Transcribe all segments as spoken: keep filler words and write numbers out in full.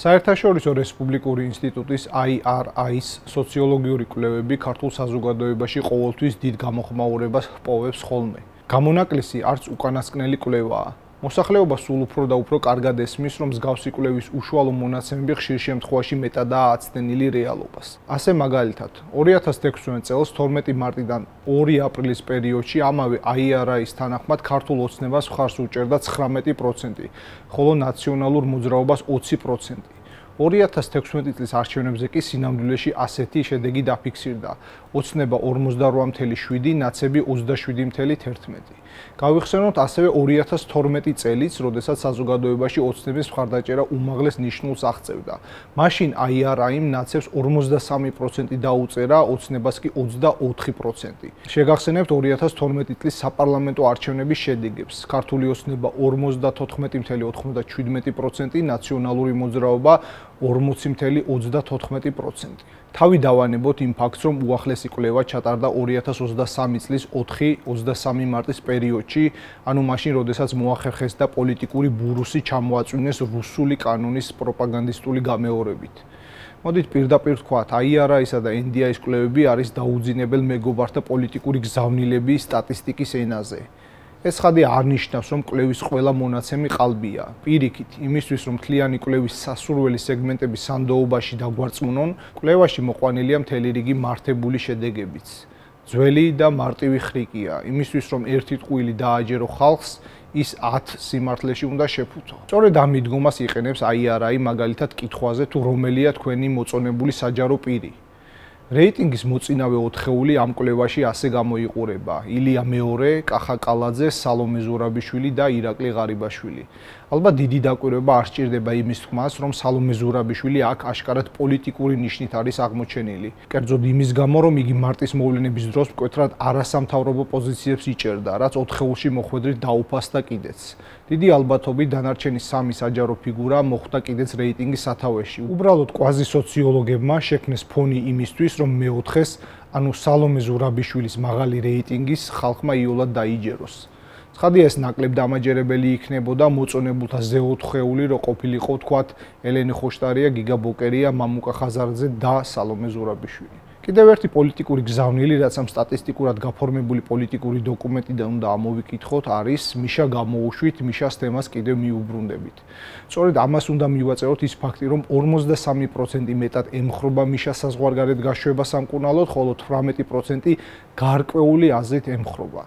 საერთაშორისო რესპუბლიკური ინსტიტუტის I R I-ის სოციოლოგიური კვლევები ქართულ საზოგადოებაში ყოველთვის დიდ გამოხმაურებას ჰპოვებს ხოლმე. გამონაკლისი არც უკანასკნელი კვლევაა. მოსახლეობა სულ უფრო და უფრო კარგად ესმის, რომ მსგავსი კვლევის უშუალო მონაცემები ხშირ შემთხვევაში მეტადაა აცდენილი რეალობას. ასე მაგალითად, ორი ათას თექვსმეტ წელს თორმეტი მარტიდან ორი აპრილის პერიოდში ამავე I R I-ის თანახმად ქართულ ოცნებას მხარს უჭერდა ცხრამეტი პროცენტი, ხოლო ნაციონალურ მოძრაობას ოცი პროცენტი. ორი ათას თექვსმეტი წლის არჩევნებზე კი სინამდვილეში ასეთი შედეგი დაფიქსირდა. ოცნება ორმოცდარვა მცდე შვიდი, ნაცები ოცდაშვიდი მცდე ერთმეტი. გავიხსენოთ ასევე ორი ათას თორმეტი წელიც, როდესაც საზოგადოებაში ოცნების მხარდაჭერა უმაღლეს ნიშნულს აღწევდა. მაშინ I R I-მ ნაცებს ორმოცდასამი პროცენტი დაუწერა, ოცნებას კი ოცდაოთხი პროცენტი. შეგახსენებთ ორი ათას თორმეტი წლის საპარლამენტო არჩევნების შედეგებს. ქართული ოცნება ორმოცდათოთხმეტი მცდე ოთხმოცდაჩვიდმეტი პროცენტი, ნაციონალური მოძრაობა ორმოცი მცდე ოცდათოთხმეტი პროცენტი. თავი დავანებოთ იმ ფაქტს, რომ უახლესი კვლევა ჩატარდა ორი ათას ოცდასამი წლის ოთხი ოცდასამი მარტის პერიოდში, ანუ მაშინ, როდესაც მოახერხეს და პოლიტიკური ბურუსი ჩამოაწვინეს რუსული კანონის პროპაგანდისტული გამეორებით. მოდით პირდაპირ ვთქვათ, I R I-სა და N D I-ის კვლევები არის დაუძინებელ მეგობართა პოლიტიკური გზავნილების სტატისტიკის ენაზე. ეს ხადი არ ნიშნავს, რომ კვლევის ყველა მონაცემი ყალბია. პირიქით, იმისთვის, რომ მთლიანი კვლევის სასურველი სეგმენტები სანდოობაში დაგვარწმუნონ, კვლევაში მოყვანილია მთელი რიგი მართებული შედეგებიც. ძველი და მარტივი ხრიკია, იმისთვის, რომ ერთი ტყუილი დააჯერო ხალხს, ის ათ სიმართლეში უნდა შეფუთო. სწორედ ამ მიდგომას იყენებს I R I მაგალითად კითხვაზე, თუ რომელია თქვენი მოწონებული საჯარო პირი. რეიტინგის მოწინავე ოთხეული ამ კვლევაში ასე გამოიყურება: ილია მეორე, კახა კალაძე, სალომე ზურაბიშვილი და ირაკლი ღარიბაშვილი. ალბათ დიდი დაკვირვება არ სჭირდება იმის თქმას, რომ სალომე ზურაბიშვილი აქ აშკარად პოლიტიკური ნიშნით არის აღმოჩენილი. კერძოდ იმის გამო, რომ იგი მარტის მოვლენების დროს მკვეთრად არასამთავრობო პოზიციებს იჭერდა, რაც ოთხეულში მოხვედრით დაუფასდა კიდეც. დიდი ალბათობით დანარჩენი სამი საჯარო ფიგურა მოხვდა კიდეც რეიტინგის სათავეში. უბრალოდ კვაზი სოციოლოგებმა შექმნეს ფონი იმისთვის, რომ მეოთხეს, ანუ სალომე ზურაბიშვილის მაღალი რეიტინგის ხალხმა იოლად დაიჯეროს. ცხადია, ეს ნაკლებ დამაჯერებელი იქნებოდა მოწონებულთა ზე ოთხეული, რო ყოფილიყო თქვათ ელენე ხოშტარია, გიგა ბოკერია, მამუკა ხაზარძე და სალომე ზურაბიშვილი. კიდევ ერთი პოლიტიკური გზავნილი, რაც ამ სტატისტიკურად გაფორმებული პოლიტიკური დოკუმენტიდან უნდა ამოვიკითხოთ, არის მიშა გამოუშვით, მიშას თემას კიდევ მიუბრუნდებით. სწორედ ამას უნდა მივაწეროთ ის ფაქტი, რომ ორმოცდასამი პროცენტი მეტად ემხრობა მიშას საზღვარგარეთ გაშვებას სამკურნალოდ, ხოლო თვრამეტი პროცენტი გარკვეული აზრით ემხრობა.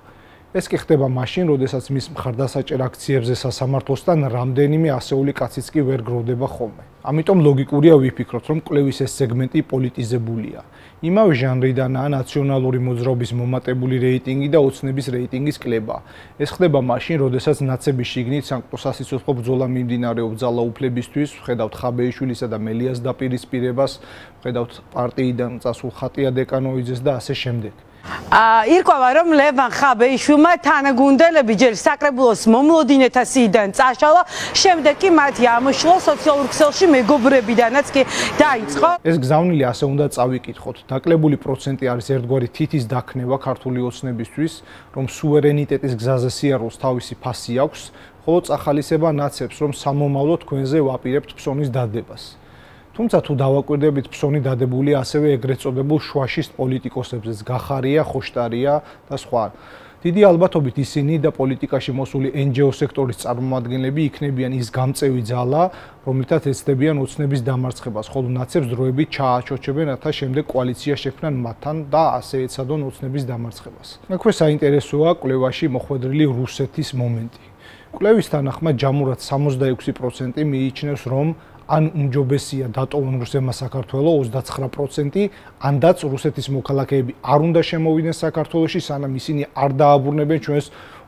ეს კი ხდება მაშინ, როდესაც მის მხარდასაჭერ აქციებზე სასამართლოსთან რამდენიმე ასეული კაციც კი ვერ გროვდება ხოლმე. ამიტომ ლოგიკურია ვიფიქროთ, რომ კვლევის ეს სეგმენტი პოლიტიზებულია. იმავე ჟანრიდანაა ნაციონალური მოძრაობის მომატებული რეიტინგი და ოცნების რეიტინგის კლება. ეს ხდება მაშინ, როდესაც ნაცების შიგნით სანქტო-სასიცოცხლო ბრძოლა მიმდინარეობს ძალაუფლებისთვის, ვხედავთ ხაბეიშვილისა და მელიას დაპირისპირებას, ვხედავთ პარტიიდან წასულ ხატია დეკანოვიძეს და ასე შემდეგ. ირკვევა, რომ ლევან ხაბეიშვილმა თანაგუნდელები ჯერ საკრებულოს მომლოდინეთა სიიდან წაშალა, შემდეგ კი მათი ამოშლა სოციალურ ქსელში მეგობრებიდანაც კი დაიწყო. ეს გზავნილი ასე უნდა წავიკითხოთ. დაკლებული პროცენტი არის ერთგვარი თითის დაქმნება ქართული ოცნებისთვის, რომ სუვერენიტეტის გზაზე სიარულს თავისი ფასი აქვს, ხოლო წახალისება ნაცებს, რომ სამომავლო თქვენზე ვაპირებთ ფსონის დადებას. თუმცა თუ დავაკვირდებით, ფსონი დადებულია ასევე ეგრეთ წოდებულ შუაშის პოლიტიკოსებზეც, გახარია, ხოშტარია და სხვა. დიდი ალბათობით ისინი და პოლიტიკაში მოსული N G O სექტორის წარმომადგენლები იქნებიან ის გამწევი ძალა, რომლითაც ეცდებიან ოცნების დამარცხებას, ხოლო ნაცებს დროებით ჩააჩოჩებენ, რათა შემდეგ კოალიცია შექმნან მათთან და ასე ეცადონ ოცნების დამარცხებას. აქვე საინტერესოა კვლევაში მოხვედრილი რუსეთის მომენტი. კვლევის თანახმად ჯამურად სამოცდაექვსი პროცენტი მიიჩნევს, რომ ან უმჯობესია დატოვონ რუსებმა საქართველო ოცდაცხრა პროცენტი, ანდაც რუსეთის მოქალაქეები არ უნდა შემოვიდნენ საქართველოში, სანამ ისინი არ დააბრუნებენ ჩვენს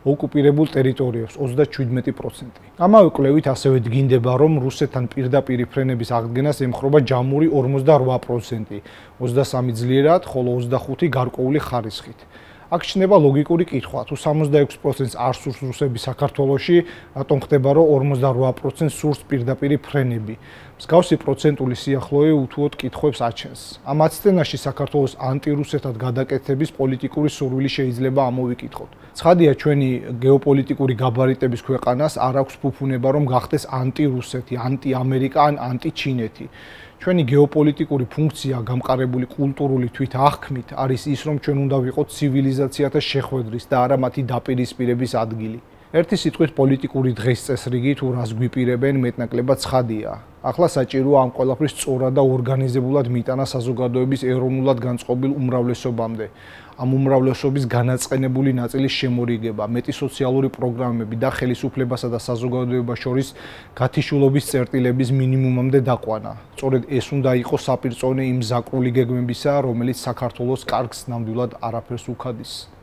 ოკუპირებულ ტერიტორიებს ოცდაჩვიდმეტი პროცენტი. ამავე კვლევით ასევე დგინდება, რომ რუსეთთან პირდაპირი ფრენების აღდგენას ემხრობა ჯამური ორმოცდარვა პროცენტი, ოცდასამი ძლიერად, ხოლო ოცდახუთი გარკვეული ხარისხით. აქ ჩნდება ლოგიკური კითხვა, თუ სამოცდაექვსი პროცენტს არ სურს რუსები საქართველოში, რატომ ხდება, რომ ორმოცდარვა პროცენტს სურს პირდაპირი ფრენები. მსგავსი პროცენტული სიახლოვე უთუოდ კითხვებს აჩენს. ამ აცდენაში საქართველოს ანტირუსეთად გადაკეთების პოლიტიკური სურვილი შეიძლება ამოვიკითხოთ. ცხადია, ჩვენი გეოპოლიტიკური გაბარიტების ქვეყანას არ აქვს ფუფუნება, რომ გახდეს ანტირუსეთი, ანტიამერიკა ან ანტიჩინეთი. ჩვენი გეოპოლიტიკური ფუნქცია გამყარებული კულტურული თვითააღქმით არის ის, რომ ჩვენ უნდა ვიყოთ ცივილიზაციათა შეხვედრის და არა მათი დაპირისპირების ადგილი. ერთი სიტყვით პოლიტიკური დღესწესრიგი თუ რას გვიპირებენ მეტნაკლებად ცხადია. ახლა საჭიროა ამ ყველაფრის სწორად და ორგანიზებულად მიტანა საზოგადოების ეროვნულად განწყობილ უმრავლესობამდე. ამ უმრავლესობის განაწყენებული ნაწილის შემორიგება, მეტი სოციალური პროგრამები და ხელისუფლებასა და საზოგადოებას შორის გათიშულობის წერტილების მინიმუმამდე დაყვანა. სწორედ ეს უნდა იყოს საპირწონე იმ ზაკრული გეგმებისა, რომელიც საქართველოს კარგს ნამდვილად არაფერს უქადის.